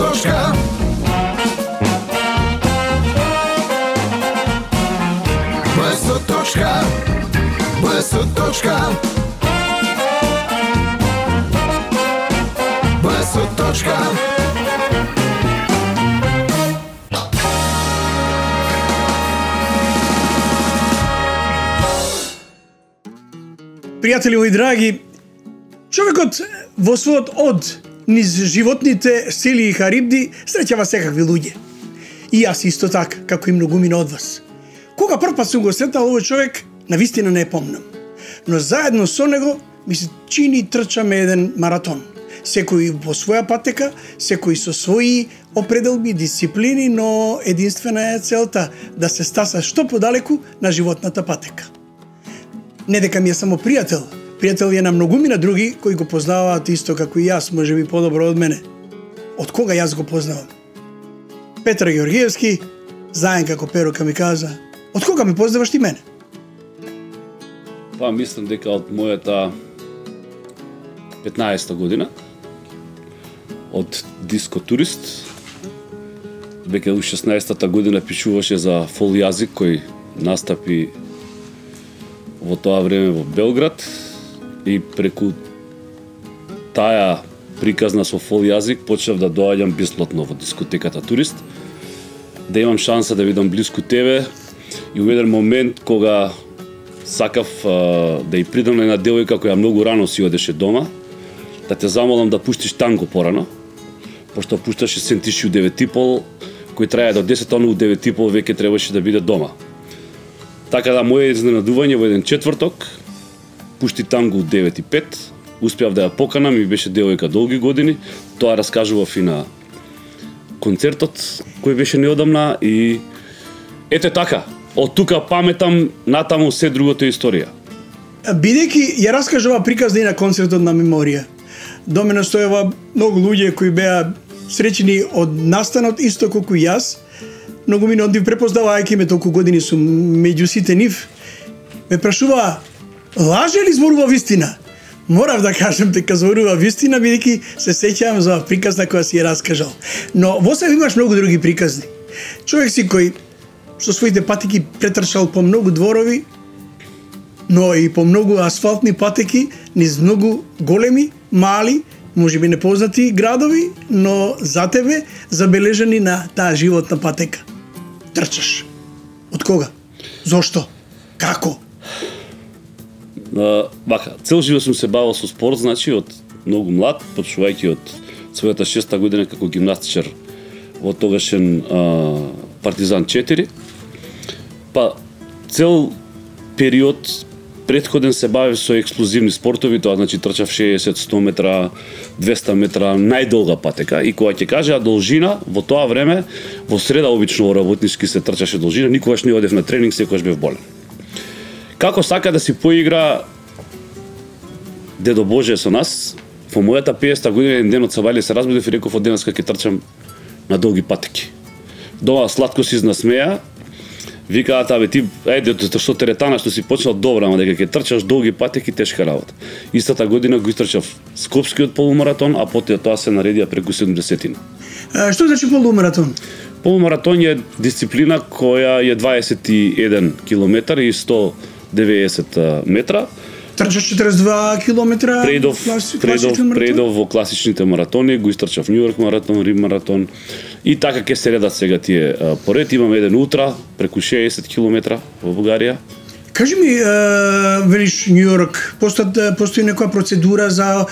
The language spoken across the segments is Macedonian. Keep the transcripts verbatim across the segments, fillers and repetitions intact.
точка. БС точка. БС точка. БС точка. Пријатели мои драги, човекот во својот од низ животните, сели и харибди среќава секакви луѓе. И јас исто така, како и многумина од вас. Кога прв пат сум го сретал овој човек, навистина не е помнам. Но заедно со него ми се чини трчаме еден маратон. Секој во своја патека, секој со своји определби, дисциплини, но единствена е целта да се стаса што подалеку на животната патека. Не дека ми е само пријател, пријател е на многумина други кои го познаваат исто како и јас, може би подобро од мене. Од кога јас го познавам? Петар Георгиевски, заеден како Перука ми каза, од кога ме познаваш ти мене? Па мислам дека од мојата петнаесета година, од дискотурист, веќе у шеснаесетата година пишуваше за фол јазик кој настапи во тоа време во Белград и преку таа приказна со фол јазик почнав да доаѓам бесплатно во дискотеката Турист, да имам шанса да видам блиску тебе и у еден момент кога сакав а, да ја придам на една девојка која многу рано си одеше дома, да те замолам да пуштиш танго порано, пошто пушташе Сентиши у девет и пол, кој трае до десет, оно у девет и пол веќе требаше да биде дома. Така да моје изненадување во еден четврток, пушти танго у девет и пет, успеав да ја поканам и беше девојка долги години, тоа раскажував и на концертот кој беше неодамна и ете така, од тука паметам натаму се другото историја. Бидејќи ја раскажува приказна и на концертот на Меморија, до мене стоева многу луѓе кои беа среќени од настанот исто колку јас, многу мина од нив препознавајќи ме толку години сум меѓу сите нив, ме прашува, лаже ли зборува вистина? Морав да кажам дека зборува вистина, бидејќи се сеќавам за приказна која си ја раскажал. Но во себе имаш многу други приказни. Човек си кој со своите патеки претрчал по многу дворови, но и по многу асфалтни патеки, низ многу големи, мали, можеби непознати градови, но за тебе забележани на таа животна патека. Трчаш. Од кога? Зошто? Како? Uh, бака, цел живот сум се бавил со спорт, значи од многу млад, почнувајќи од својата шеста година како гимнастичар во тогашен uh, Партизан четири. Па цел период претходен се бавив со експлозивни спортови, тоа значи трчав шеесет, сто метра, двеста метра, најдолга патека. И кога ќе кажа должина, во тоа време, во среда обично во работнички се трчаше должина, никогаш не одев на тренинг, секогаш бев болен. Како сака да си поигра Дедо Боже со нас, во мојата пеесета година еден ден од Сабајле се разбудив и реков од денеска ќе трчам на долги патеки. Дома сладко си изнасмеа, викаат, абе ти, ајде, што теретана што си почнал добро, ама дека ќе трчаш долги патеки, тешка работа. Истата година го истрчав Скопскиот полумаратон, а потоа тоа се наредија преку седумдесетина. А, што значи полумаратон? Полумаратон е дисциплина која е дваесет и еден километар и сто деветдесет метра. Трчаш четириесет и два километра. Предов, предов, предов во класичните маратони, го истрчав Нью Йорк маратон, Рим маратон. И така ќе се редат сега тие поред. Имам еден утра, преку шеесет километра во Бугарија. Кажи ми, велиш Нью Йорк, постои, постои некоја процедура за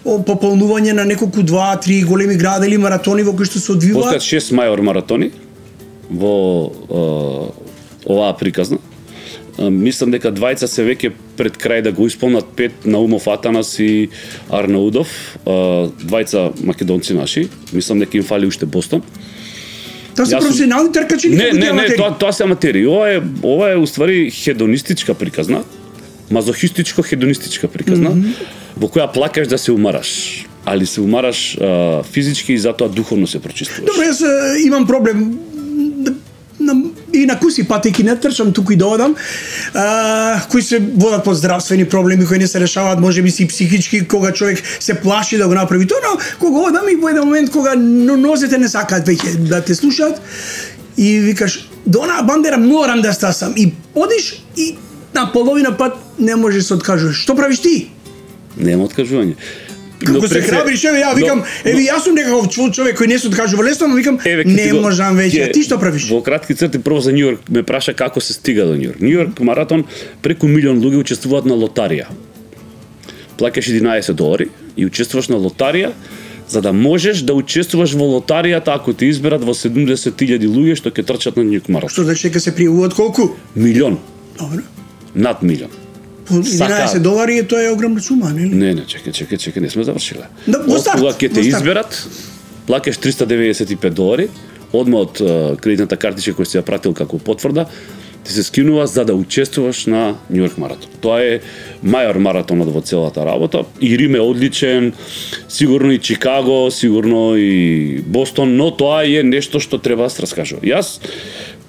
пополнување на неколку два три големи града или маратони во кои што се одвиваат? Постојат шест мајор маратони во е, оваа приказна. Мислам дека двајца се веќе пред крај да го исполнат, пет Наумов Атанас и Арнаудов, двајца македонци наши, мислам дека им фали уште Бостон. Тоа се професионални тркачи или не, не, не, тоа, тоа се аматери. Ова е, ова е уствари хедонистичка приказна, мазохистичко-хедонистичка приказна, mm -hmm. во која плакаш да се умараш, али се умараш а, физички и затоа духовно се прочиствуваш. Добро, јас имам проблем. И луѓе на куси патеки не трчам туку и да одам, а, кои се водат по здравствени проблеми кои не се решаваат, можеби си психички, кога човек се плаши да го направи тоа, но кога одам и во еден момент кога нозете не сакаат веќе да те слушаат и викаш до онаа бандера морам да стасам и одиш и на половина пат не можеш да се откажуваш. Што правиш ти? Нема откажување. Како се храбриш, еве ја викам, еве јас сум некаков човек кој не се откажува лесно, но викам не можам веќе. Ти што правиш? Во кратки црти прво за Њујорк ме праша како се стига до Њујорк. Њујорк маратон преку милион луѓе учествуваат на лотарија. Плаќаш единаесет долари и учествуваш на лотарија за да можеш да учествуваш во лотаријата ако те изберат во седумдесет илјади луѓе што ќе трчат на Њујорк маратон. Што значи дека се пријавуваат колку? Милион. Добро. Над милион. единаесет долари тоа е огромна сума, нели? Не, не, чекај, чекај, чекај, не сме завршиле. Да, во старт. Кога ќе те изберат, плаќаш триста деветдесет и пет долари, одма од uh, кредитната картичка која си ја пратил како потврда, ти се скинува за да учествуваш на Њујорк маратон. Тоа е мајор маратонот во целата работа. И Рим е одличен, сигурно и Чикаго, сигурно и Бостон, но тоа е нешто што треба да се раскажува. Јас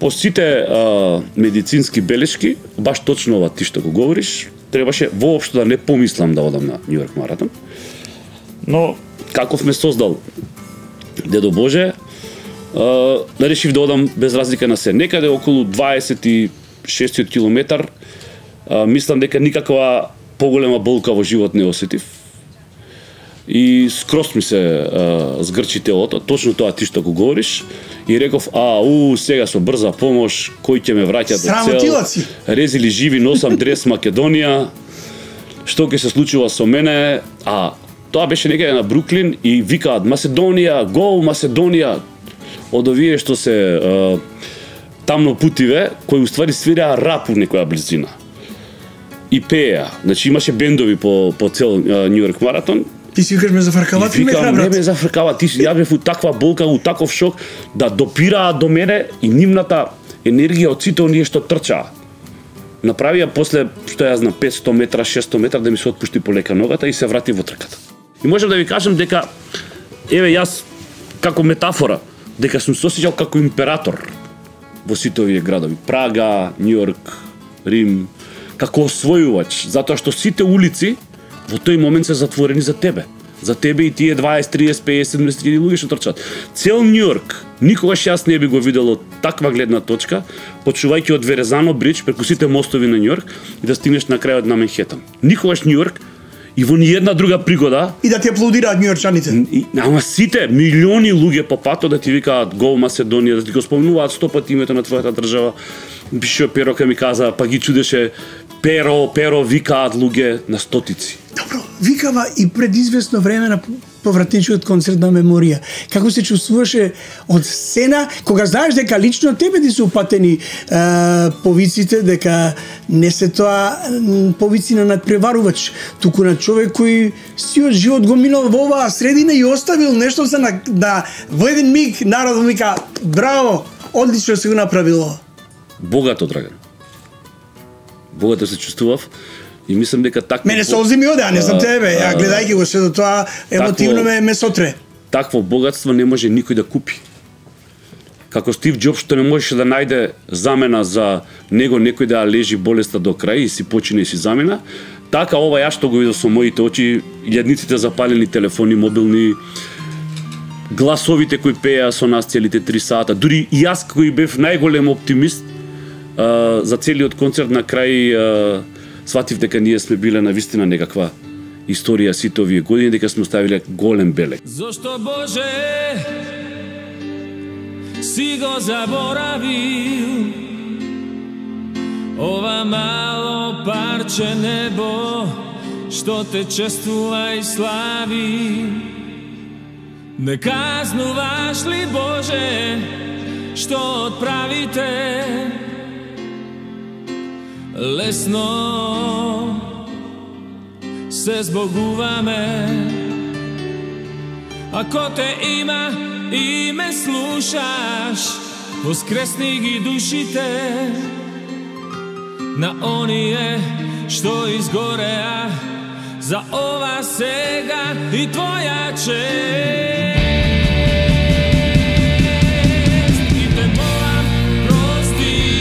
по сите а, медицински белешки, баш точно ова ти што го говориш, требаше воопшто да не помислам да одам на Њујорк маратон. Но каков ме создал Дедо Боже, Uh, решив да одам без разлика на се. Некаде околу дваесет и шест километар, uh, мислам дека никаква поголема болка во живот не осетив. И скрос ми се uh, згрчи телото, точно тоа ти што го говориш. И реков, а, у, сега со брза помош, кој ќе ме враќа до цел, резили живи, носам дрес Македонија, што ќе се случува со мене, а тоа беше некаде на Бруклин и викаат, Маседонија, гол Маседонија, од овие што се uh, тамно путиве, кои уствари свираа рап у некоја близина. И пееа. Значи имаше бендови по, по цел uh, Њујорк маратон. Ти си викаш ме зафркава, ти ме храбрат. Не ме зафркава, ти ја бев у таква болка, у таков шок, да допираа до мене и нивната енергија од сите оние што трчаа. Направија после, што ја знам, петстотини метра, шестстотини метра да ми се отпушти полека ногата и се врати во трката. И можам да ви кажам дека, еве јас, како метафора, дека сум се осеќал како император во сите овие градови. Прага, Њујорк, Рим, како освојувач, затоа што сите улици во тој момент се затворени за тебе. За тебе и тие дваесет, триесет, песет, седумдесет илјади луѓе што трчат. Цел Њујорк, никогаш јас не би го видел од таква гледна точка, почувајќи од Верезано бридж преку сите мостови на Њујорк и да стигнеш на крајот на Манхетан. Никогаш Њујорк и во ниједна друга пригода и да ти аплодираат њујорчаните. Ама сите милиони луѓе по патот да ти викаат гол Маседонија, да ти го спомнуваат сто пати името на твојата држава. Пишо Перо ка ми каза, па ги чудеше Перо, Перо викаат луѓе на стотици. Добро, викава и пред известно време на повратничкиот концерт на Меморија. Како се чувствуваше од сцена, кога знаеш дека лично тебе ти се упатени е, повиците, дека не се тоа повици на надпреварувач, туку на човек кој сиот живот го минал во оваа средина и оставил нешто за на, да во еден миг народот вика браво, одлично се го направило. Богато, Драган. Богато се чувствував. И мислам дека такво... Мене солзи ми оде, а не знам тебе. Ја гледајќи го се до тоа, емотивно ме, ме сотре. Такво богатство не може никој да купи. Како Стив Џобс што не можеше да најде замена за него, некој да лежи болеста до крај и си почине и си замена, така ова ја што го видов со моите очи, илјадниците запалени телефони мобилни, гласовите кои пееа со нас целите три сата, дури и јас кој бев најголем оптимист а, за целиот концерт на крај а, сватив дека ние сме биле на вистина некаква историја сите овие години, дека сме оставиле голем белег. Зошто Боже си го заборавил ова мало парче небо што те чествува и слави? Не казнуваш ли Боже што отправите лесно се збогуваме? Ако те има и ме слушаш, воскресни ги душите на оние што изгореа за ова сега и твоја чест. И те молам, прости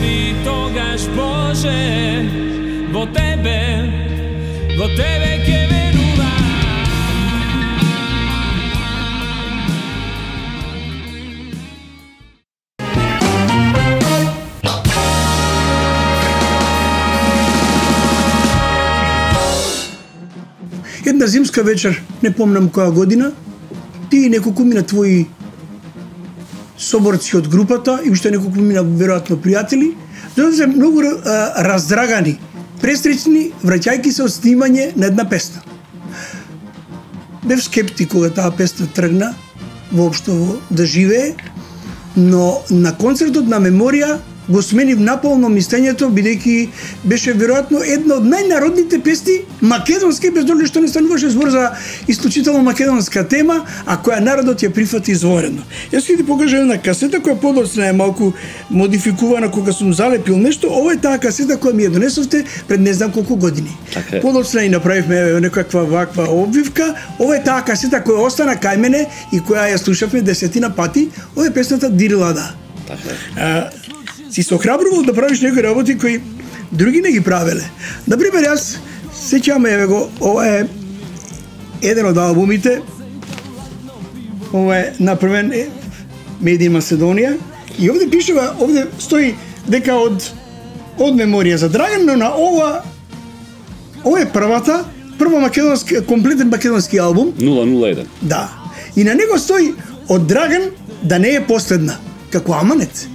И тогаш Боже, во Тебе, во Тебе ќе верувам. Една зимска вечер, не помнам која година, ти и неколку мина твои соборци од групата и уште неколку мина веројатно пријатели, дојде многу а, раздрагани, престречни, враќајки се од снимање на една песна. Бев скептик кога таа песна тргна воопшто да живее, но на концертот на Меморија го сменив наполно мислењето, бидејќи беше веројатно една од најнародните песни македонски, без додека што не стануваше збор за исклучително македонска тема, а која народот ја прифати изворено. Јас ќе ти покажам една касета која подоцна е малку модификувана кога сум залепил нешто. Ова е таа касета која ми ја донесовте пред не знам колку години. Okay. Подоцна и направивме некаква ваква обвивка. Ова е таа касета која остана кај мене и која ја слушавме десетина пати. Ова е песната Дирилада. Така е. Си се охрабрувал да правиш некои работи кои други не ги правеле. Например, јас сеќавам еве го, ова е еден од албумите. Ова е направен Made in Macedonia и овде пишува, овде стои дека од од Меморија за Драган, но на ова ова е првата, прва македонски комплетен македонски албум. нула нула еден. Да. И на него стои од Драган да не е последна, како аманет.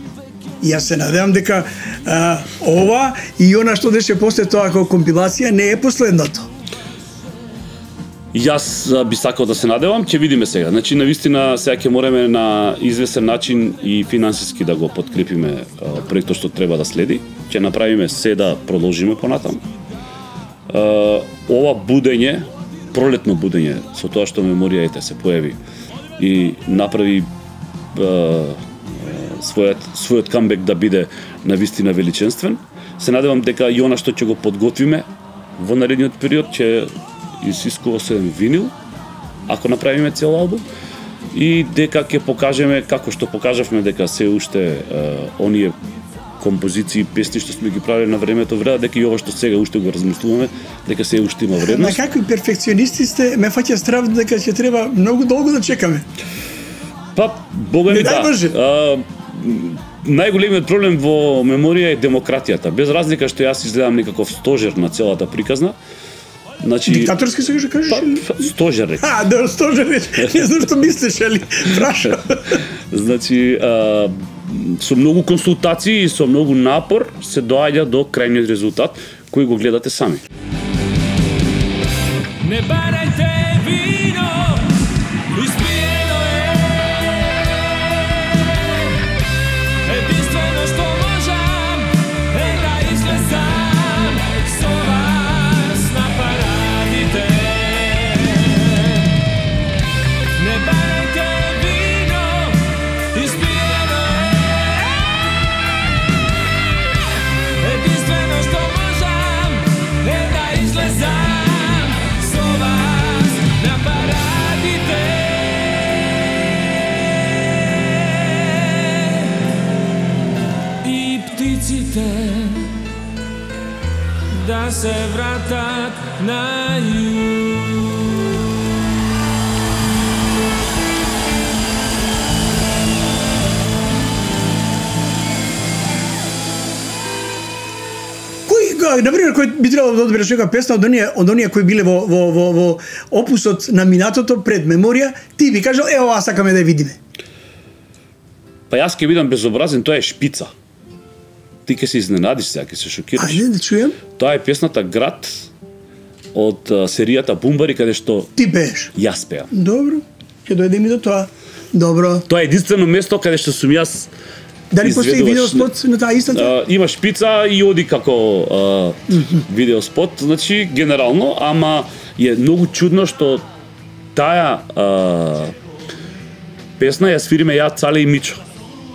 И јас се надевам дека а, ова и она што деше после тоа како компилација не е последното. Јас а, би сакал да се надевам, ќе видиме сега. Значи, навистина, сега ќе мораме на известен начин и финансиски да го подкрепиме а, проектот што треба да следи. Ќе направиме се да продолжиме понатаму. А, ова будење, пролетно будење, со тоа што Меморија ете се појави и направи а, својот својот камбек да биде навистина величенствен. Се надевам дека и она што ќе го подготвиме во наредниот период ќе изискува се винил, ако направиме цел албум, и дека ќе покажеме како што покажавме дека се уште е, оние композиции, песни што сме ги правили на времето вреда, дека и ова што сега уште го размислуваме, дека се уште има вредност. На какви перфекционисти сте, ме фаќа страв дека ќе треба многу долго да чекаме. Па, бога ми да. А, најголемиот проблем во Меморија е демократијата. Без разлика што јас изгледам некаков стожер на целата приказна. Значи, диктаторски се кажеш? Па, стожер рече. А, да, стожер рече. Не знам што мислиш, али праша. Значи, а, со многу консултации и со многу напор се доаѓа до крајниот резултат кој го гледате сами. Не барајте вино, испиено е. Единствено што можам е да излезам со вас на парадите. Не барајте вино, испиено е. Единствено што можам е да излезам со вас на парадите. И птиците да се вратат на југ. Кој, например, кој би требало да одбереш некоја песна од оние, од оние кои биле во, во, во, во опусот на минатото пред Меморија, ти би кажал, ево, ова сакаме да ја видиме. Па јас ќе бидам безобразен, тоа е Шпица. Ти ќе се изненадиш сега, ќе се шокираш. Ајде да чуjem. Тоа е песната Град од а, серијата Бумбари, каде што Ти пееш. јас пеам. Добро, ќе дојдеме и до тоа. Добро. Тоа е единствено место каде што сум јас. Дали постои изведуваш- видеоспот на таа истата? А, има Шпица и оди како а, видеоспот, значи генерално, ама е многу чудно што таа а, песна ја свириме ја, Цале и Мичо.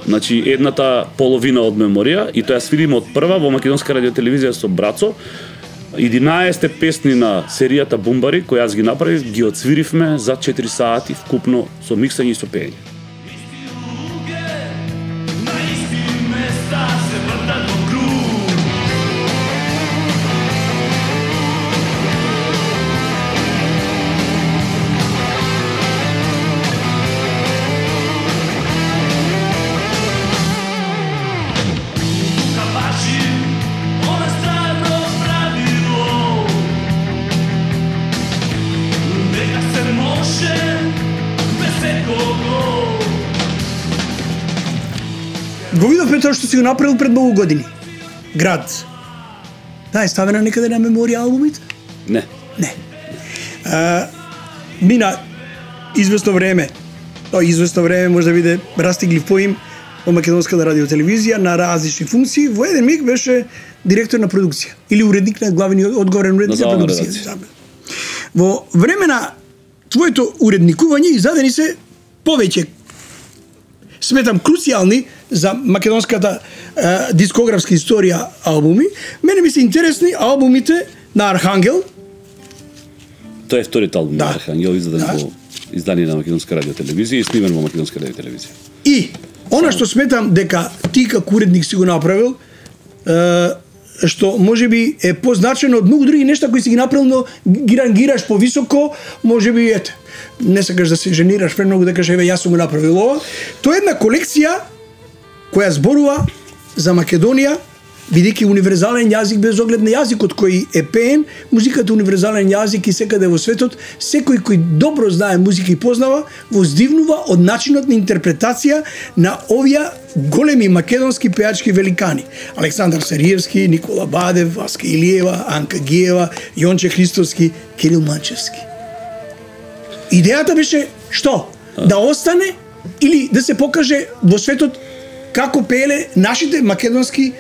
Значи едната половина од Меморија и тоа ја свириме од прва во Македонска радиотелевизија со Брацо. единаесет песни на серијата Бумбари кои јас ги направив, ги отсвиривме за четири сати вкупно со миксање и со пеење. На исти места се вртат во круг. го видовме тоа што си го направил пред многу години. Град. Да, е ставена некаде на меморија албумите? Не. Не. А, мина известно време, тоа известно време може да биде растигли поим во македонската радиотелевизија на различни функции. Во еден миг беше директор на продукција или уредник на главни одговорен уредник на продукција. Во време на твоето уредникување издадени се повеќе, сметам, круцијални за македонската е, дискографска историја албуми. Мене ми се интересни албумите на Архангел. Тоа е вториот албум Да. на Архангел, издаден Да. во издание на Македонска радиотелевизија и снимен во Македонска радиотелевизија. И она што сметам дека ти како уредник си го направил, е, што можеби е позначено од многу други нешта кои си ги направил, но ги рангираш повисоко, можеби ете, не сакаш да се женираш премногу да кажеш еве јас сум го направил ова. Тоа е една колекција која зборува за Македонија, бидејќи универзален јазик без оглед на јазикот кој е пеен, музиката е универзален јазик и секаде во светот, секој кој добро знае музика и познава, воздивнува од начинот на интерпретација на овие големи македонски пеачки великани. Александар Сариевски, Никола Бадев, Васка Илиева, Анка Гиева, Јонче Христовски, Кирил Манчевски. Идејата беше што? Да остане или да се покаже во светот како пееле нашите македонски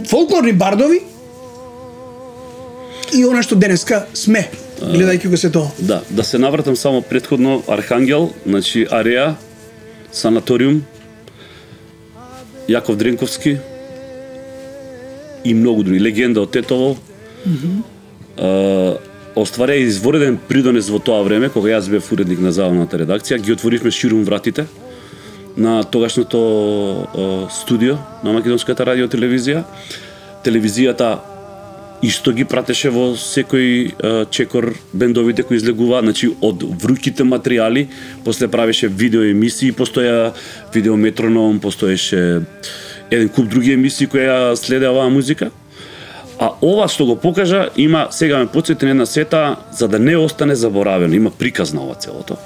фолклорни бардови и она што денеска сме, гледајќи го се тоа. Да, да се навратам само претходно, Архангел, значи Ареа, Санаториум, Јаков Дренковски и многу други, Легенда од Тетово. Mm -hmm. Остварија извореден придонес во тоа време, кога јас бев уредник на забавната редакција, ги отворивме ширум вратите на тогашното uh, студио на Македонската радиотелевизија. Телевизијата исто ги пратеше во секој uh, чекор бендовите кои излегува, значи од вруките материјали, после правеше видео емисии, постоја видеометроном, постоеше еден куп други емисии кои ја следеа оваа музика. А ова што го покажа, има, сега ме потсети на една сета, за да не остане заборавено, има приказ на ова целото.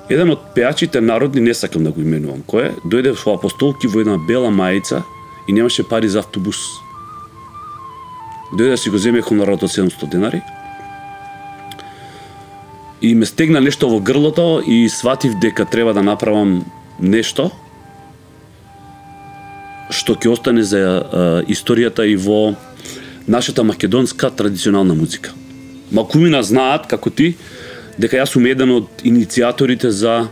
Еден од пеачите народни, не сакам да го именувам кој е, дојде во Апостолки во една бела мајица и немаше пари за автобус. Дојде да си го земе хонорарот од седумстотини денари и ме стегна нешто во грлото и сватив дека треба да направам нешто што ќе остане за а, историјата и во нашата македонска традиционална музика. Малкумина знаат, како ти, дека јас сум еден од иницијаторите за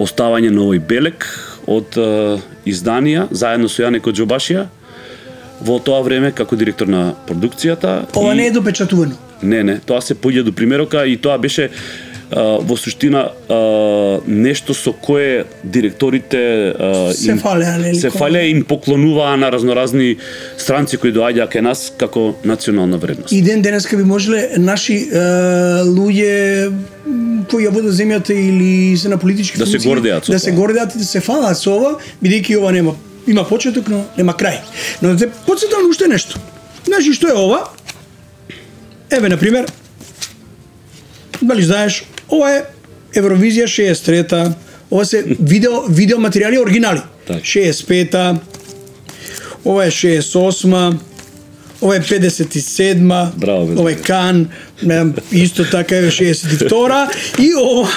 оставање на овој белег од а, изданија, заедно со Јане Коџобашија, во тоа време како директор на продукцијата. Ова и... не е допечатувано. Не, не, тоа се поѓа до примерока и тоа беше а, во суштина а, нешто со кое директорите а, Се им, фалеа, нели? се фалеа и им поклонуваа на разноразни странци кои доаѓаа кај нас како национална вредност. И ден денеска би можеле наши е, луѓе кои ја водат земјата или се на политички Да се функции, гордеат со да се тоа. гордеат и да се фалаат со ова, бидејќи ова нема има почеток, но нема крај. Но да те потсетам уште нешто. Знаеш што е ова? Еве, на пример, дали знаеш, ова е Евровизија шеесет и трета, ова се видео видео материјали оригинали. Так. шеесет и пета, ова е шеесет и осма, ова е педесет и седма, Браво, бе, ова е Кан, не, исто така е шеесет и втора и ова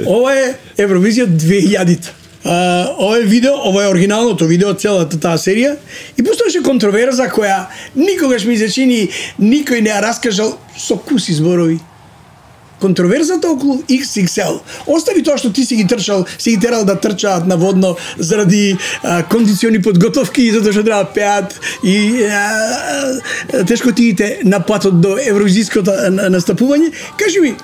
ова е Евровизија две илјадите. Uh, ова е видео, ова е оригиналното видео од целата таа серија и постоеше контроверза која никогаш ми се чини никој не ја раскажал со куси зборови. Контроверзата околу икс икс ел. Остави тоа што ти си ги трчал, си ги терал да трчаат наводно заради а, кондициони подготовки и затоа што треба да пеат и а, тешкотиите на патот до евровизиското настапување. Кажи ми,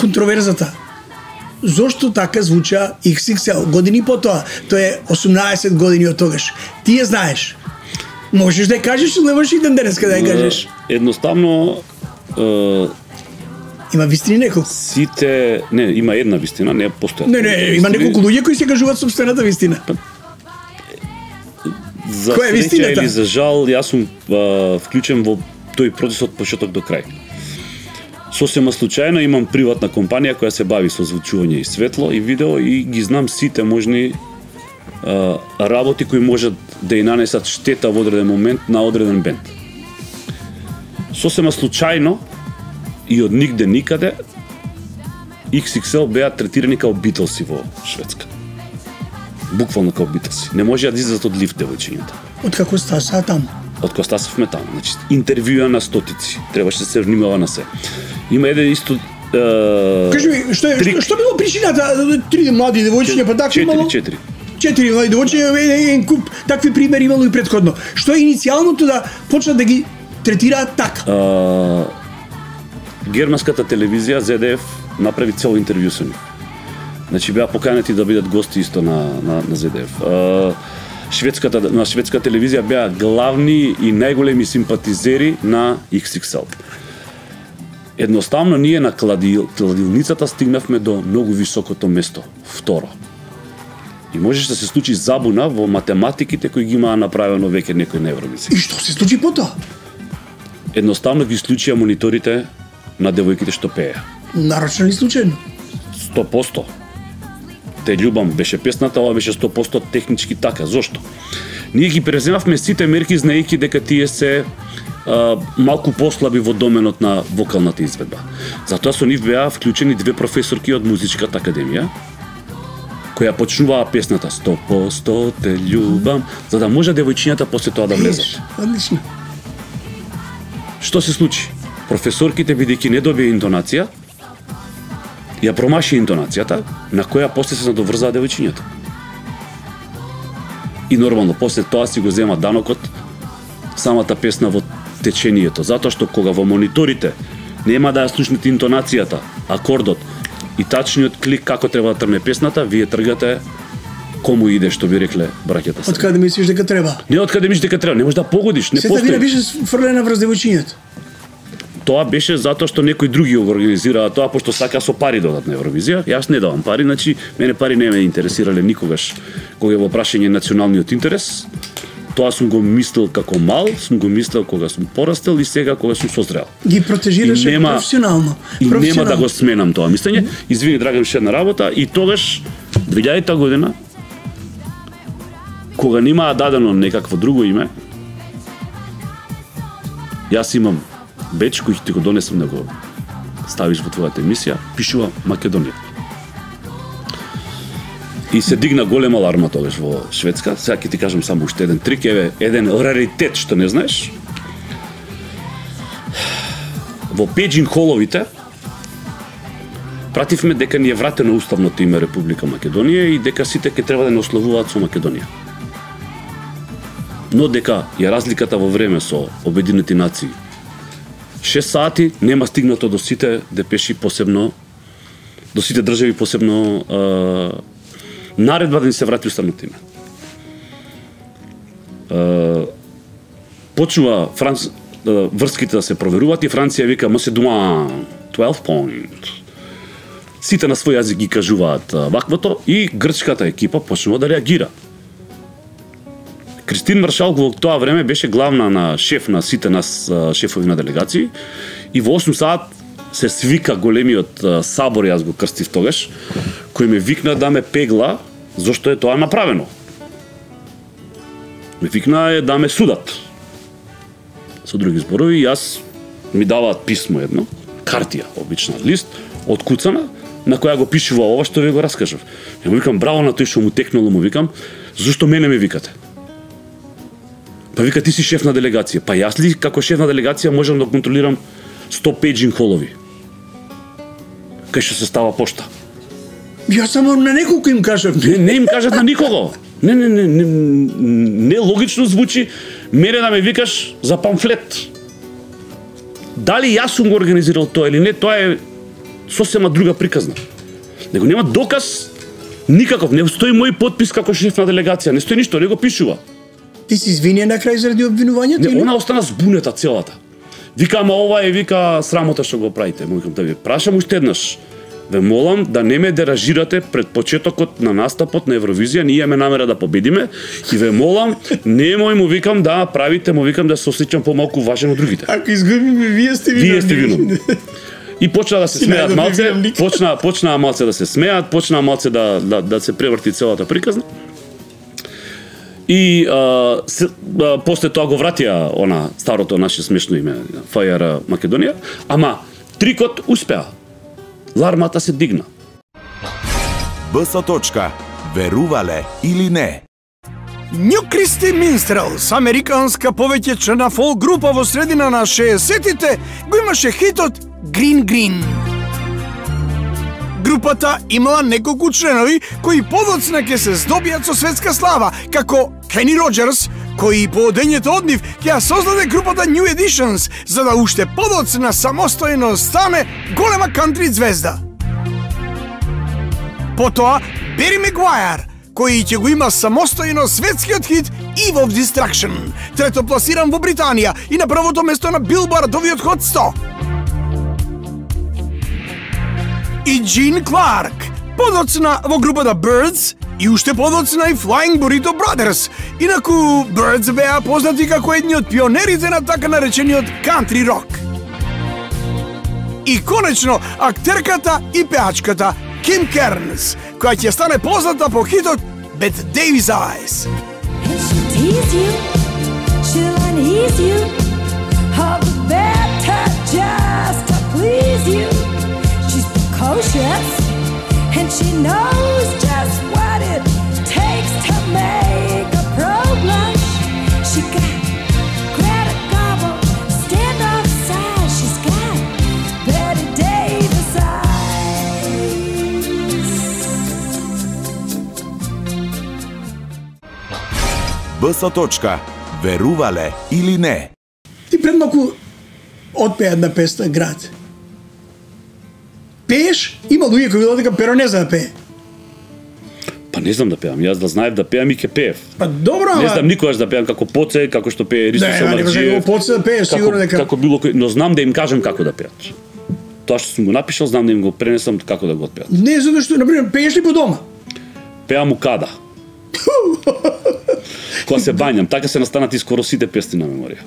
контроверзата зошто така звуча икс икс ел години потоа? Тоа е осумнаесет години од тогаш. Ти ја знаеш. Можеш да ја кажеш или немаш и ден денеска да ја кажеш? Едноставно е, Има вистини неколку. сите, не, има една вистина, не постојат. Не, не, има неколку луѓе кои се кажуваат собствената вистина. За Која е среќа вистината? или за жал, јас сум а, вклучен во тој процес од почеток до крај. Сосема случајно имам приватна компанија која се бави со звучување и светло и видео и ги знам сите можни а, работи кои можат да и нанесат штета во одреден момент на одреден бенд. Сосема случајно и од нигде никаде икс икс ел беа третирани као Битлси во Шведска. Буквално као Битлси. Не можеа да излезат од лифт девојчињата. Од како стаса таму? Од кога стасовме таму. Значи, интервјуа на стотици. Требаше да се внимава на се. Има еден исто... Е... Кажи ми, што, е, што, што било причината? Три млади девојчиња, па така имало... Четири, четири. Четири млади девојчиња, еден куп такви примери имало и претходно. Што е иницијалното да почнат да ги третираат така? А... Германската телевизија Зет Еф направи цело интервју со нив. Значи беа поканети да бидат гости исто на на на Зет Еф. А... Шведската на шведска телевизија беа главни и најголеми симпатизери на икс икс ел. Едноставно ние на кладил, кладилницата стигнавме до многу високото место, второ. И можеше да се случи забуна во математиките кои ги имаа направено веќе некој на Евровизија. И што се случи потоа? Едноставно ги исклучија мониторите на девојките што пееа. Нарочно или случајно? сто проценти. Те љубам беше песната, ова беше сто проценти технички така. Зошто? Ние ги преземавме сите мерки знаејќи дека тие се а, малку послаби во доменот на вокалната изведба. Затоа со нив беа вклучени две професорки од музичката академија која почнуваа песната сто проценти те љубам, за да може девојчињата после тоа да влезат. Одлично. Што се случи? Професорките, бидејќи не добија интонација, ја промаши интонацијата, на која после се надоврзаа девојчињата. И нормално, после тоа си го зема данокот самата песна во течението, затоа што кога во мониторите нема да ја слушнете интонацијата, акордот и тачниот клик како треба да трне песната, вие тргате кому иде, што би рекле браќата се. Од каде мислиш дека треба? Не од каде мислиш дека треба, не можеш да погодиш, не Сета постои. вина беше фрлена врз девојчињата. Тоа беше затоа што некои други го организираа тоа, пошто сака со пари додат на Евровизија. Јас не давам пари, значи мене пари не ме интересирале никогаш кога е во прашање националниот интерес. Тоа сум го мислел како мал, сум го мислел кога сум порастел и сега кога сум созрел. Ги протежираше нема, професионално. И професионално. нема да го сменам тоа мислење. Извини, Драган, ше една работа и тогаш две илјадета година кога немаа дадено некакво друго име, јас имам беч кој ти го донесам да го ставиш во твојата емисија, пишува Македонија. И се дигна голема аларма тогаш во Шведска. Сега ќе ти кажам само уште еден трик, еве еден раритет што не знаеш. Во пејджинг холовите пративме дека ни е вратено уставното име Република Македонија и дека сите ќе треба да не ославуваат со Македонија. Но дека ја разликата во време со Обединети нации шест сати нема стигнато до сите депеши, посебно до сите држави, посебно е, наредба да ни се врати уставното име. Е, почнува Франц, е, врските да се проверуваат и Франција вика Macedon twelve point. Сите на свој јазик ги кажуваат ваквото и грчката екипа почнува да реагира. Кристин Маршал во тоа време беше главна на шеф на сите нас шефови на делегации и во осум саат се свика големиот сабор, јас го крстив тогаш, кој ме викна да ме пегла зошто е тоа направено. Ме викна е да ме судат. Со други зборови, јас ми даваат писмо едно, картија, обична лист, откуцана, на која го пишува ова што ви го раскажав. Ја му викам браво на тој што му текнало, му викам, зошто мене ме викате? Па вика, ти си шеф на делегација. Па јас ли како шеф на делегација можам да контролирам сто пејджинг холови? Кај што се става пошта. Јас само на неколку им кажав. Не, не им кажат на никого. Не, не, не, не, не логично звучи мене да ме викаш за памфлет. Дали јас сум го организирал тоа или не, тоа е сосема друга приказна. Него нема доказ никаков, не стои мој подпис како шеф на делегација, не стои ништо, не го пишува. Ти си извинија на крај заради обвинувањето? Не, она остана збунета целата. Вика, ама ова е, вика, срамота што го правите. Му викам, да ви прашам уште еднаш. Ве молам да не ме деражирате пред почетокот на настапот на Евровизија, ние имаме намера да победиме и ве молам, немој му викам да правите, му викам да се осеќам помалку важен од другите. Ако изгубиме, вие сте виновни. Вие сте виновни. И почна да се смеат малце, почна почнаа малце да се смеат, почнаа малце да да да се преврти целата приказна. И а, се, а, после тоа го вратија она старото наше смешно име Ф Ј Р Македонија, ама трикот успеа. Лармата се дигна. Б С точка. Верувале или не? New Christy Minstrels, американска повеќечна фолк група во средина на шеесеттите, го имаше хитот Green Green. Групата имала неколку членови кои подоцна ќе се здобијат со светска слава, како Кени Роџерс, кој по одењето од нив ќе ја создаде групата New Editions, за да уште подоцна самостојно стане голема кантри звезда. Потоа Бери Мегуајар, кој ќе го има самостојно светскиот хит Eve of Destruction, трето пласиран во Британија и на првото место на Билбардовиот Hot сто. И Джин Кларк, подоцна во групата Birds и уште подоцна и Flying Burrito Brothers. Инаку Birds беа познати како едни од пионерите на така наречениот кантри рок. И конечно, актерката и пеачката Ким Кернс, која ќе стане позната по хитот Bette Davis Eyes. And she'll tease you, she'll unease you, all the better just to please you. She's precocious, and she knows just what it takes to make a pro blush. She got Greta Garbo, stand off side. She's got Bette Davis eyes. Б С точка. Верувале или не? Ти пред малку отпеа една песна Град. Пееш, има луѓе кои велат дека Перо не знае да пее. Па не знам да пеам, јас да знаев да пеам и ќе пеев. Па добро, Не ама... знам никогаш да пеам како Поце, како што пее Ристо Не, не, не, Самарджиев. не, Поце да пее, сигурно како, дека... како било кој, но знам да им кажам како да пеат. Тоа што сум го напишал, знам да им го пренесам како да го отпеат. Не, затоа што, например, пееш ли по дома? Пеам у када. Кога се бањам, така се настанати скоро сите песни на меморија.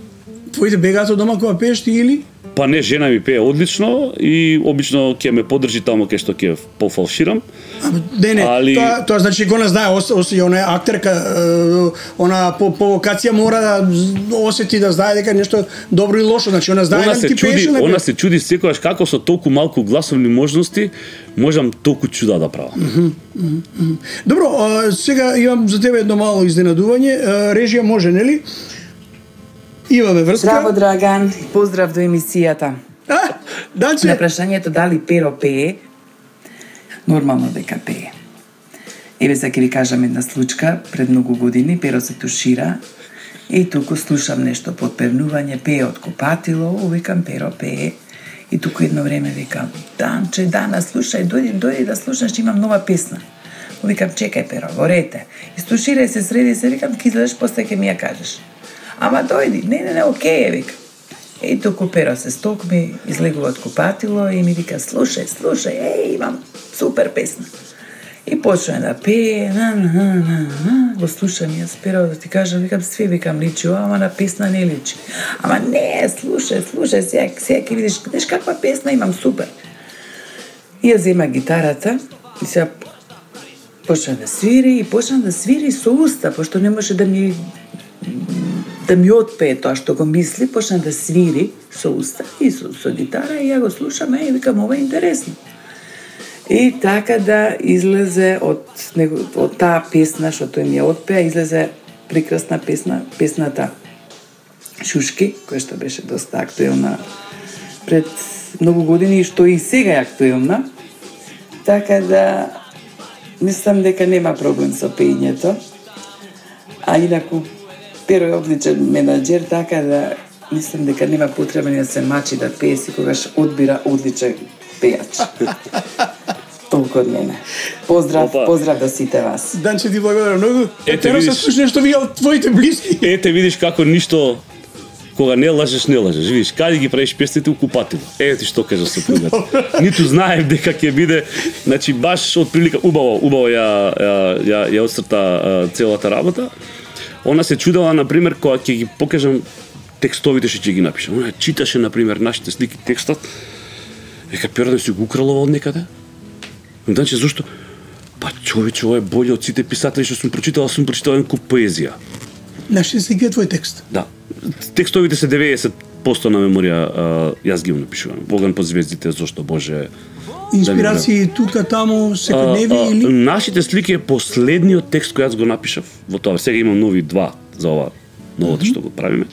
Твоите бегаат од дома кога пееш ти или? Па не, жена ми пее одлично и обично ќе ме поддржи таму кај што ќе пофалширам. А, не, не, Али... тоа, тоа значи го не знае, ос, ос, она е актерка, е, она по, по вокација мора да осети да знае дека нешто добро и лошо, значи она знае Она да се ти чуди, пееше. она се чуди секогаш како со толку малку гласовни можности можам толку чуда да правам. Mm -hmm, mm -hmm. Добро, а, сега имам за тебе едно мало изненадување. А, режија може, нели? Имаме врска. Здраво, Драган. Поздрав до емисијата. А, Данче. На прашањето дали Перо пее, нормално дека пее. Еве сега ќе ви кажам една случка. Пред многу години Перо се тушира и туку слушам нешто подпевнување, пее од купатило, викам Перо пее. И туку едно време викам, Данче, Дана, слушај, дојди, дојди да слушаш, имам нова песна. Викам, чекај Перо, во рете. Истуширај се, среди се, викам, ки излезеш, после ќе ми ја кажеш. Ама дојди, не, не, не, окей е, вика. И туку Перо се стокми, излегува од купатило и ми вика, слушај, слушај, еј, имам супер песна. И почна да пее, на, на, на, на, на, го слушам јас Перо, да ти кажам, викам, све, викам, личи, ама на песна не личи. Ама не, слушај, слушај, сега, сега ќе видиш, знаеш каква песна имам, супер. И ја зема гитарата и сега почна да свири и почна да свири со уста, пошто не може да ми да ми отпее тоа што го мисли, почна да свири со уста и со, со гитара и ја го слушам и викам, ова е интересно. И така да излезе од него, од таа песна што тој ми ја отпеа, излезе прекрасна песна, песната Шушки, која што беше доста актуелна пред многу години, што и сега е актуелна. Така да мислам дека нема проблем со пеењето. А инаку Перо е одличен менаџер, така да мислам дека нема потреба да се мачи да пее, секогаш одбира одличен пејач. Толку од мене. Поздрав, Опа. поздрав до сите вас. Данче, ти благодарам многу. Ете, Перо се видиш. слушне што вие од твоите блиски. Ете видиш како ништо кога не лажеш, не лажеш. Видиш, каде ги правиш песните у купатило. Еве ти што кажа сопругата. Ниту знаев дека ќе биде, значи баш од прилика убаво, убаво ја ја ја, ја отсрта а, целата работа. Она се чудела на пример кога ќе ги покажам текстовите што ќе ги напишам. Она читаше на пример нашите слики текстот. Вика, Перо да си го украл од некаде? Значи, зашто? Па човече, ова е боле од сите писатели што сум прочитал, сум прочитал еден куп поезија. Наши слики е твој текст. Да. Текстовите се деветдесет проценти на меморија, а, јас ги напишувам. Боган по звездите, зошто Боже. Инспирации тука, таму, секојдневни или? Нашите слики е последниот текст кој јас го напишав во тоа. Сега имам нови два за ова новото mm -hmm. што го правиме.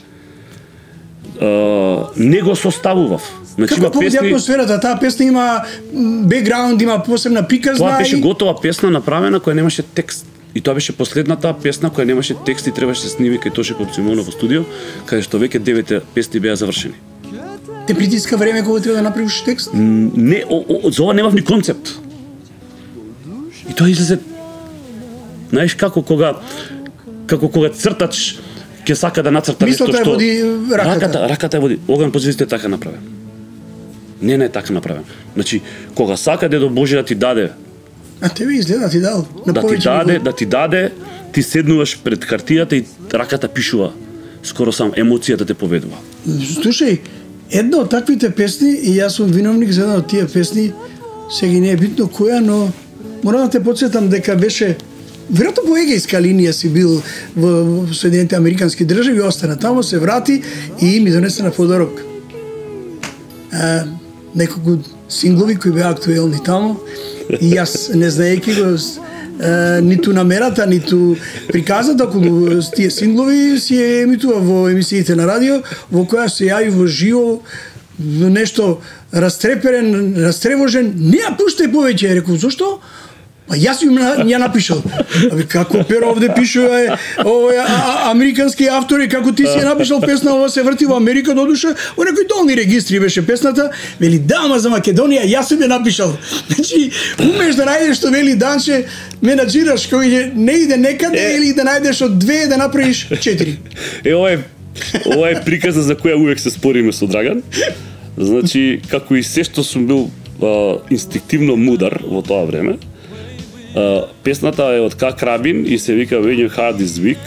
Uh, не го составував. Значи, како повеќе песни... атмосферата, таа песна има бекграунд, има посебна приказна. Тоа беше и... готова песна направена која немаше текст. И тоа беше последната песна која немаше текст и требаше да се сними кај Тоше Копцимонов во студио, каде што веќе девете песни беа завршени. Те притиска време кога треба да направиш текст? Не, о, о, за ова немав ни концепт. И тоа излезе. Знаеш како кога како кога цртач ќе сака да нацрта нешто што... Мислата води раката. Раката, раката е води. Оган по звездите е така направен. Не, не е така направен. Значи, кога сака дедо Боже да ти даде... А тебе изгледа ти дал. На да ти даде, ниво. да ти даде, ти седнуваш пред картијата и раката пишува. Скоро сам емоцијата те поведува. Слушај, една од таквите песни, и јас сум виновник за една од тие песни, сега не е битно која, но морам да те подсетам дека беше веројатно по егејска линија си бил во Соединените Американски држави, остана таму, се врати и ми донесе на подарок а, неколку синглови кои беа актуелни таму и јас не знаејќи го а, ниту намерата, ниту приказата околу тие синглови си е емитува во емисиите на радио, во која се јави во живо нешто растреперен, растревожен, не ја пуштај повеќе, реков, зошто? А јас им ја напишал. Абе како Перо овде пишува овој американски автори, како ти си ја напишал песна, ова се врти во Америка додуша, во некои долни регистри беше песната, вели да, ама за Македонија јас сум ја напишал. Значи, умеш да најдеш што вели Данче, менаџираш кој не иде некаде е... или да најдеш од две да направиш четири. Е, ова е ова е приказна за која увек се спориме со Драган. Значи, како и се што сум бил а, инстинктивно мудар во тоа време, Uh, песната е од К. Крабин и се вика When Your Heart Is Weak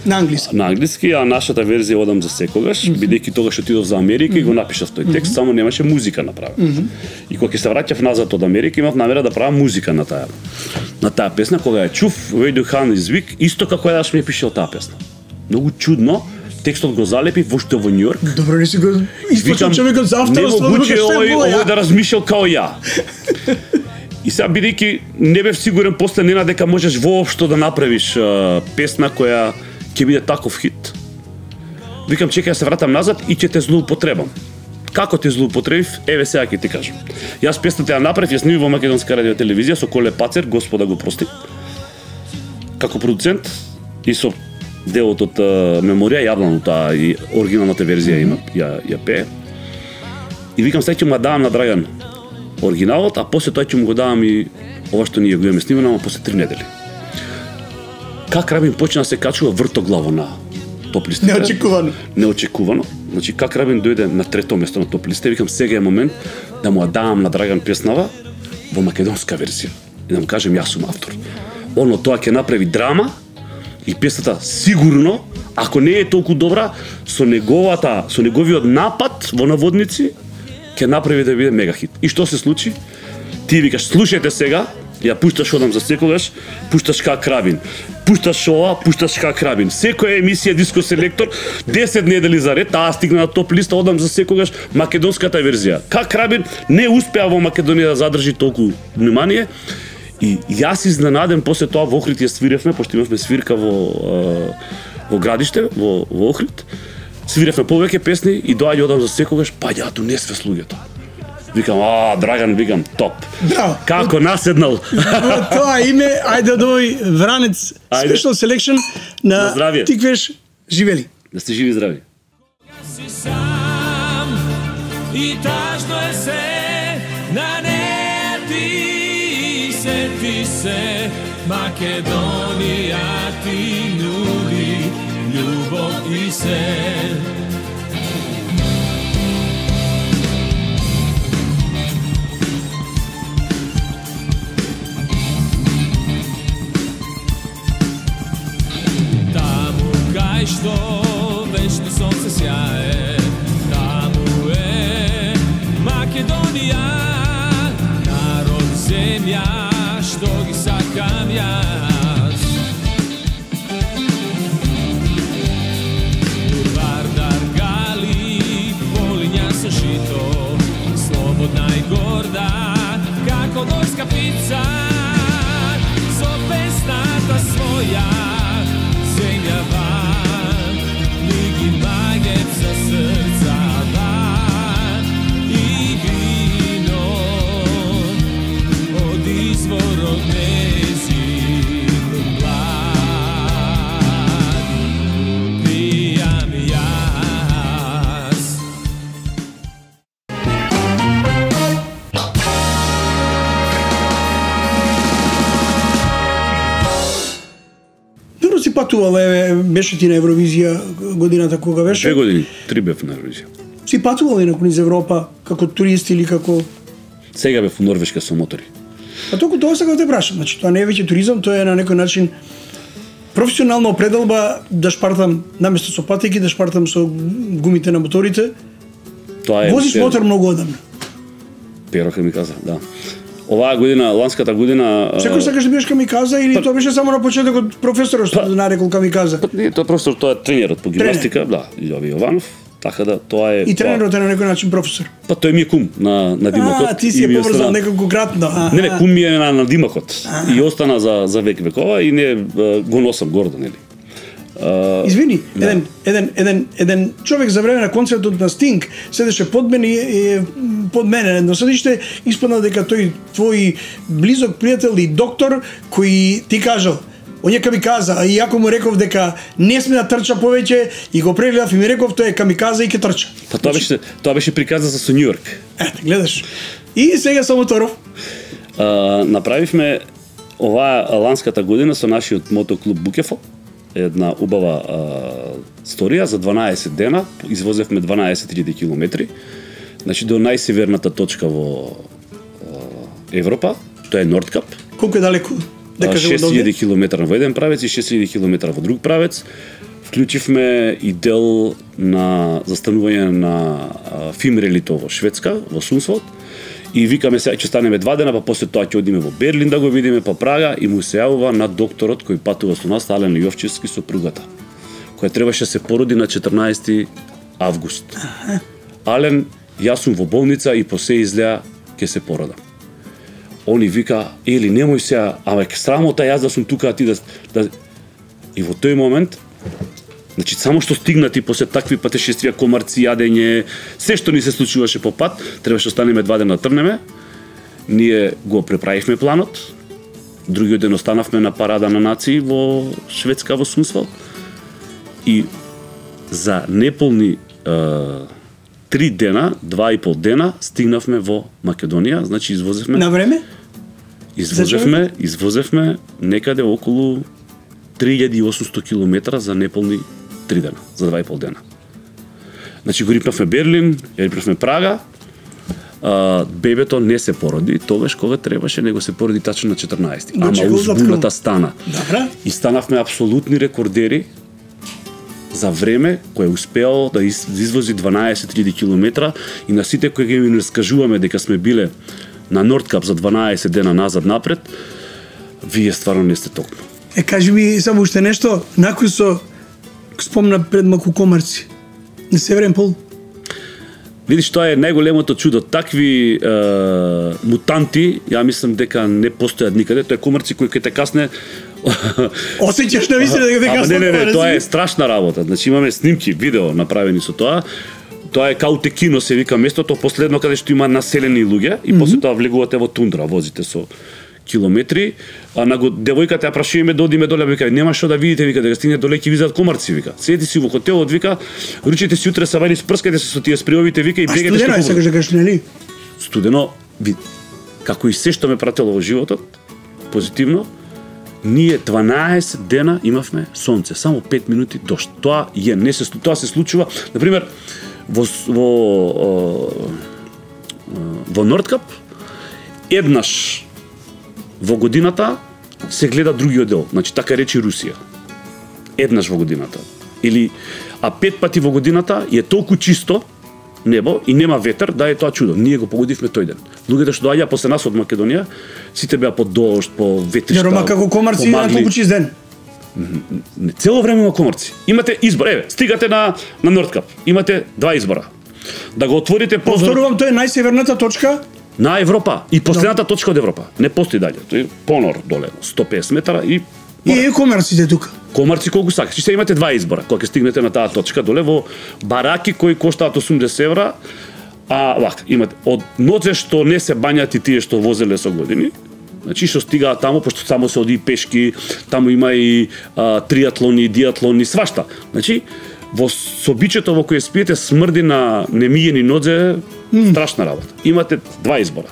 на англиски. На англиски, а нашата верзија Одам за секогаш, mm -hmm. бидејќи тогаш отидов за Америка mm -hmm. и го напишав тој текст, mm -hmm. само немаше музика направена. Mm -hmm. И кога ќе се враќав назад од Америка, имав намера да правам музика на таа на таа песна, кога ја чув When Your Heart Is Weak, исто како јас ми е пишал таа песна. Многу чудно, текстот го залепи вошто во Њујорк. Добро, не си го испочел човекот за авторство, не могуче овој овој да размишljал као ја. И сега бидејќи не бев сигурен после Нена дека можеш воопшто да направиш а, песна која ќе биде таков хит. Викам чекај да се вратам назад и ќе те злоупотребам. Како те злоупотребив? Еве сега ќе ти кажам. Јас песната ја направив, ја снимив во Македонска радио телевизија со Коле Пацер, Господа го прости. Како продуцент и со делот од а, меморија јавно таа и оригиналната верзија има ја ја пее. И викам сега ќе му давам на Драган оригиналот, а после тоа ќе му го давам и ова што ние го имаме снимано, ама после три недели. Как Рабин почна да се качува вртоглаво на топ листите? Неочекувано. Неочекувано. Значи, как Рабин дојде на трето место на топ листите, викам сега е момент да му ја давам на Драган песнава во македонска верзија. И да му кажем јас сум автор. Оно тоа ќе направи драма и песната сигурно, ако не е толку добра, со неговата, со неговиот напад во наводници, ќе направи да биде мега хит. И што се случи? Ти викаш, слушајте сега, ја пушташ Одам за секогаш, пушташ К. Крабин, пушташ ова, пушташ К. Крабин. Секоја емисија Диско Селектор, десет недели за ред, таа стигна на топ листа, Одам за секогаш, македонската верзија. К. Крабин не успеа во Македонија да задржи толку внимание. И јас изненаден после тоа во Охрид ја свиревме, пошто имавме свирка во во градиште, во во Охрид. Свиревме повеќе песни и доаѓа Одам за секогаш, па ја ту не све слуѓето. Викам, а, Драган, викам, топ. Браво. Како наседнал. Во тоа име, ајде да дој Вранец Special Selection на, на Тиквеш живели. Да сте живи и здрави. Си сам и тажно е се на не ти се ти се Македонија ти нуди љубов и се. Што вечно сонце сјае, таму е Македонија. земја што ги сакам јас. Вардар гали, полиња со жито, слободна и горда, како горска птица, со песната своја земјава, ми ги магет за срцава и вино од изворот незин благ. Пијам јас. Добро си патувал, еве, беше ти на Евровизија годината кога беше? Две години, три бев на Евровизија. Си патувал и низ Европа како турист или како... Сега бев во Норвешка со мотори. А толку тоа сега те прашам, значи тоа не е веќе туризам, тоа е на некој начин професионална определба да шпартам наместо со патеки, да шпартам со гумите на моторите. Тоа е Возиш мотор многу одамна. Перо ке ми каза, да. Оваа година, ланската година... Секој сакаш да бидеш камиказа или тоа беше само на почетокот професорот што нарекол камиказа? Па не, тоа професор, тоа е тренерот по гимнастика, да, Јови Јованов, така да тоа е... И тренерот е на некој начин професор. Па тој ми е кум на на Димакот. А, ти си и е ми поврзал остана- некако кратно. А, Не, не, а. кум ми е на, на Димакот. И остана за за век векова и не е, го носам гордо, нели. А, Извини, да. еден, еден, еден, еден човек за време на концертот на Стинг седеше под мене и под мене едно седиште, испадна дека тој твој близок пријател и доктор кој ти кажал, он е камиказа, а и ако му реков дека не сме да трча повеќе и го прегледав и ми реков тој е камиказа и ќе трча. Па тоа беше тоа беше приказа за со Њујорк. Ете, гледаш. И сега со моторов. А, направивме оваа ланската година со нашиот мотоклуб Букефол една убава а, сторија за дванаесет дена, извозевме дванаесет илјади километри, значи до најсеверната точка во а, Европа, тоа е Нордкап, Колку е далеку? Да кажем од шест овде? илјади километра во еден правец и шест илјади километра во друг правец. Вклучивме и дел на застанување на а, Фимрелито во Шведска, во Сунсволд. И викаме сега ќе станеме два дена, па после тоа ќе одиме во Берлин да го видиме, па Прага, и му се јавува на докторот кој патува со нас, Ален Јовчевски, сопругата, која требаше да се породи на четрнаесети август. Ален, јас сум во болница и по се изгледа ќе се породам. Они вика, ели немој сега, ама е срамота јас да сум тука, а ти да, да... И во тој момент, значи само што стигнати после такви патешествија, комарци, јадење, се што ни се случуваше по пат, требаше да станеме два дена трнеме. Ние го преправивме планот. Другиот ден останавме на парада на нации во Шведска, во Сунсвалд. И за неполни е, три дена, два и пол дена, стигнавме во Македонија, значи извозевме... На време? Извозевме, извозевме некаде околу три илјади и осумсто километра за неполни три дена, за два и пол дена. Значи го рипнавме Берлин, ја рипнавме Прага, а, бебето не се породи, тогаш кога требаше, него се породи тачно на четрнаесети. Го Ама чекал узбуната заткал. стана. Добра. И станавме апсолутни рекордери за време кој успеал да из- извози дванаесет илјади километра, и на сите кои ги ми раскажуваме дека сме биле на Нордкап за дванаесет дена назад напред, вие стварно не сте токму. Е, кажи ми само уште нешто, накој со спомна пред малку комарци. На Северен пол. Видиш, тоа е најголемото чудо. Такви е, мутанти, ја мислам дека не постојат никаде. Тоа е комарци кој ќе те касне. Осеќаш на вистина дека те Ама касна не, не, не, комарци? тоа е страшна работа. Значи имаме снимки, видео направени со тоа. Тоа е Каутекино се вика местото, последно каде што има населени луѓе, и после тоа влегувате во тундра, возите со километри. А на го девојката ја прашуваме да одиме доле, вика нема што да видите, вика дека стигне доле ќе видат комарци, вика. Седите си во хотелот, вика, ручите си утре савајни, спрскате се со тие спреовите, вика, и А бегате студено е, што сакаш да кажеш, нели? студено, ви- како и се што ме пратело во животот, позитивно, ние дванаесет дена имавме сонце, само пет минути дожд. Тоа е не се тоа се случува, на пример, во с- во о, о, во Нордкап еднаш во годината се гледа другиот дел, значи така речи Русија. Еднаш во годината. Или а пет пати во годината е толку чисто небо и нема ветер, да е тоа чудо. Ние го погодивме тој ден. Луѓето што доаѓа после нас од Македонија, сите беа под дожд, по ветришта. Рома како комарци на толку чист ден. Не, цело време има комарци. Имате избор, еве, стигате на на Нордкап. Имате два избора. Да го отворите прозорот. Повторувам, тоа е најсеверната точка на Европа и последната no. точка од Европа. Не постои дале. Тој е понор доле, сто и песет метра и и е комарците тука. Комарци колку сакаш. Се имате два избора кога ќе стигнете на таа точка доле во бараки кои коштаат осумдесет евра, а вака имате од нозе што не се бањат и тие што возеле со години. Значи што стигаат таму, пошто само се оди пешки, таму има и а, триатлони, диатлони, свашта. Значи во собичето во кое спиете смрди на немиени нозе, mm. страшна работа. Имате два избора.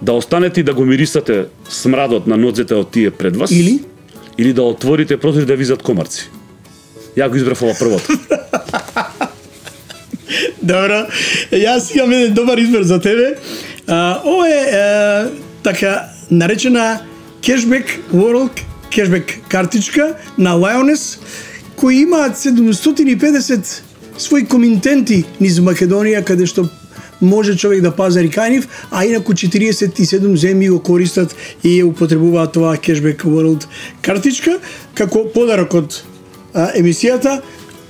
Да останете и да го мирисате смрадот на нозете од тие пред вас, или или да отворите прозор и да визат комарци. Ја го избрав ова првото. Добро, јас имам еден добар избор за тебе. А, ова е а, така наречена Cashback World Cashback картичка на Lioness, кои имаат седумстотини и педесет своји комитенти низ Македонија, каде што може човек да пазари кај нив, а инаку четириесет и седум земји го користат и ја употребуваат тоа Cashback World картичка како подарок од а, емисијата,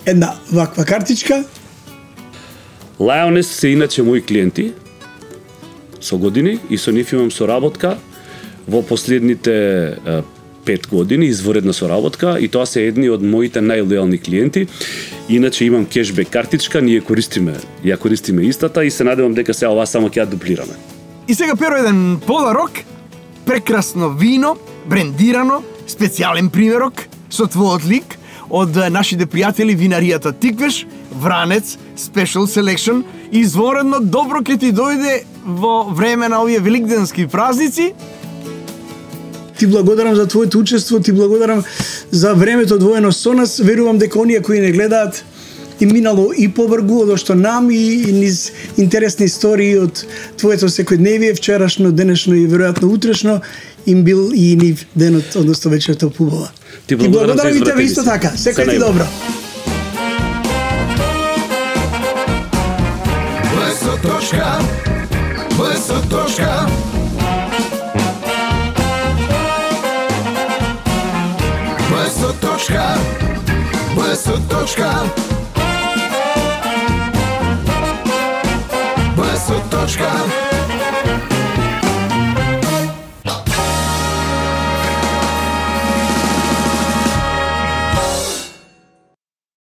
една ваква картичка. Lioness се иначе мои клиенти со години и со нив имам соработка во последните а, пет години, изворедна соработка, и тоа се едни од моите најлојални клиенти. Иначе имам кешбек картичка, ние користиме, ја користиме истата и се надевам дека сега ова само ќе ја дуплираме. И сега Перо еден подарок, прекрасно вино, брендирано, специјален примерок со твојот лик од нашите пријатели винаријата Тиквеш, Вранец, Special Selection, изворедно добро ќе ти дојде во време на овие великденски празници. Ти благодарам за твоето учество, ти благодарам за времето одвоено со нас. Верувам дека оние кои не гледаат и минало и побргу од што нам и, и низ интересни истории од твоето секојдневие, вчерашно, денешно и веројатно утрешно, им бил и нив денот, односно вечерта побава. Ти благодарам, благодарам и тебе исто така. Секој ти добро. Блесо точка, блесо точка. Блесо точка, блесо точка. Блесо точка.